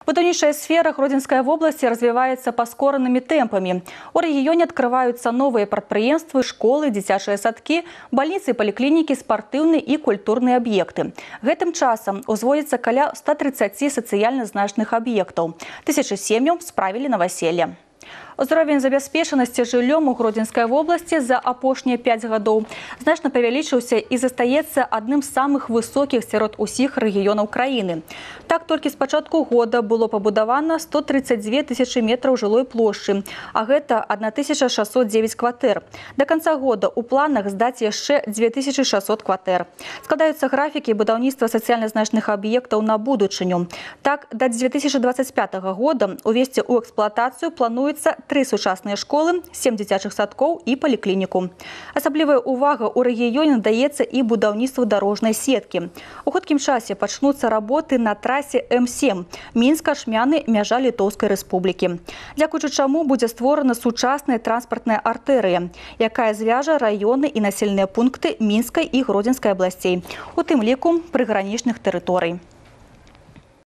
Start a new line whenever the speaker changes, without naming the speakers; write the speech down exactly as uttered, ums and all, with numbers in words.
Будаўнічая сфера Гродзенскай области развивается паскоранымі темпами. У регионе открываются новые предприятия, школы, дзіцячыя садки, больницы, поликлиники, спортивные и культурные объекты. Гэтым часам узводится каля ста тридцати социально значных объектов. Тысячи сем'яў справили новоселье. Узровень забяспечанасці жыллём у Гродзенскай области за апошнія пяць гадоў значна павялічыўся і застаецца адным з самых высокіх сярод усіх рэгіёнаў краіны. Так, толькі з пачатку года было пабудавана сто тридцать две тысячи метраў жылой плошчы, а гэта одна тысяча шестьсот девять кватэр. До конца года у планах здаць яшчэ две тысячи шестьсот кватэр. Складаюцца графікі будаўніцтва сацыяльна значных аб'ектаў на будучыню. Так, да две тысячи двадцать пятого года увесці ў эксплуатацыю плануецца три сучасныя школы, сем дзіцячых садкоў і паліклініку. Асаблівая увага ў рэгіёне надаецца і будаўніцтву дарожнай сеткі. У хуткім часе пачнуцца работы на трасе эм сем Мінска-Шмяны, мяжа Літоўскай рэспублікі. Дзякуючы чаму будзе створана сучасная транспартная артэрыя, якая звяжа раёны і населеныя пункты Мінскай і Гродзенскай абласцей, у тым ліку прыгранічных тэрыторый.